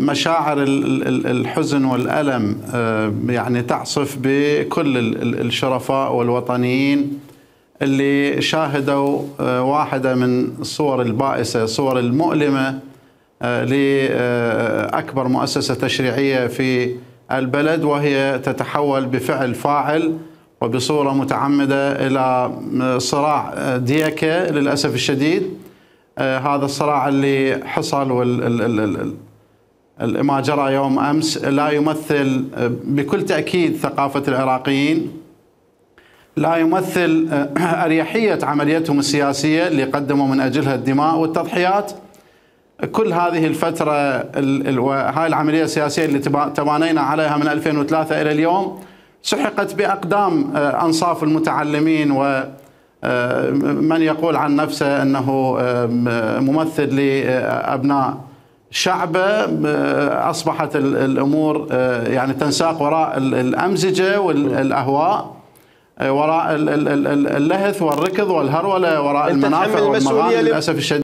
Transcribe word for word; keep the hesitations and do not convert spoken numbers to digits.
مشاعر الحزن والألم يعني تعصف بكل الشرفاء والوطنيين اللي شاهدوا واحدة من الصور البائسة، الصور المؤلمة لأكبر مؤسسة تشريعية في البلد، وهي تتحول بفعل فاعل وبصورة متعمدة إلى صراع ديكة للأسف الشديد. هذا الصراع اللي حصل وال ما جرى يوم أمس لا يمثل بكل تأكيد ثقافة العراقيين، لا يمثل أريحية عمليتهم السياسية اللي قدموا من أجلها الدماء والتضحيات. كل هذه الفترة هاي العملية السياسية اللي تبانينا عليها من ألفين وثلاثة إلى اليوم سحقت بأقدام أنصاف المتعلمين ومن يقول عن نفسه أنه ممثل لأبناء شعبه. أصبحت الأمور يعني تنساق وراء الأمزجة والأهواء، وراء اللهث والركض والهرولة، وراء المنافع والمغانم للأسف الشديد.